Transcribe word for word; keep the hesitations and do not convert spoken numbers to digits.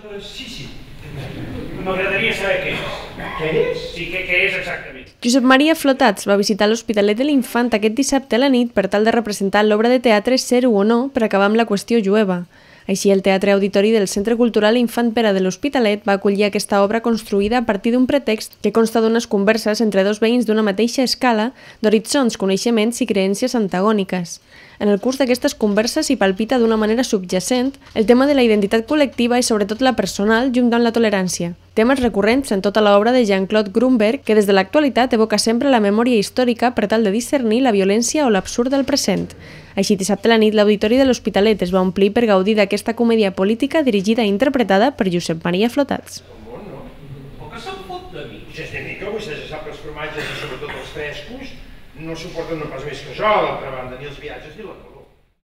Sí, sí. M'agradaria saber què és. Què és? Sí, què és exactament. Josep Maria Flotats va visitar l'Hospitalet de l'Infant aquest dissabte a la nit per tal de representar l'obra de teatre Ser-ho o no per acabar amb la qüestió jueva. Així, el Teatre Auditori del Centre Cultural Infant Pere de l'Hospitalet va acollir aquesta obra construïda a partir d'un pretext que consta d'unes converses entre dos veïns d'una mateixa escala, d'horitzons, coneixements i creences antagòniques. En el curs d'aquestes converses s'hi palpita d'una manera subjacent el tema de la identitat col·lectiva i sobretot la personal junt amb la tolerància. Temes recurrents en tota l'obra de Jean-Claude Grunberg, que des de l'actualitat evoca sempre la memòria històrica per tal de discernir la violència o l'absurd del present. Així, dissabte a la nit, l'Auditori de l'Hospitalet es va omplir per gaudir d'aquesta comèdia política dirigida i interpretada per Josep Maria Flotats. El que se'n fot de mi? Vostè ni que vostè ja sap que els formatges i sobretot els frescos no suporten no pas més que això, a l'altra banda, ni els viatges ni la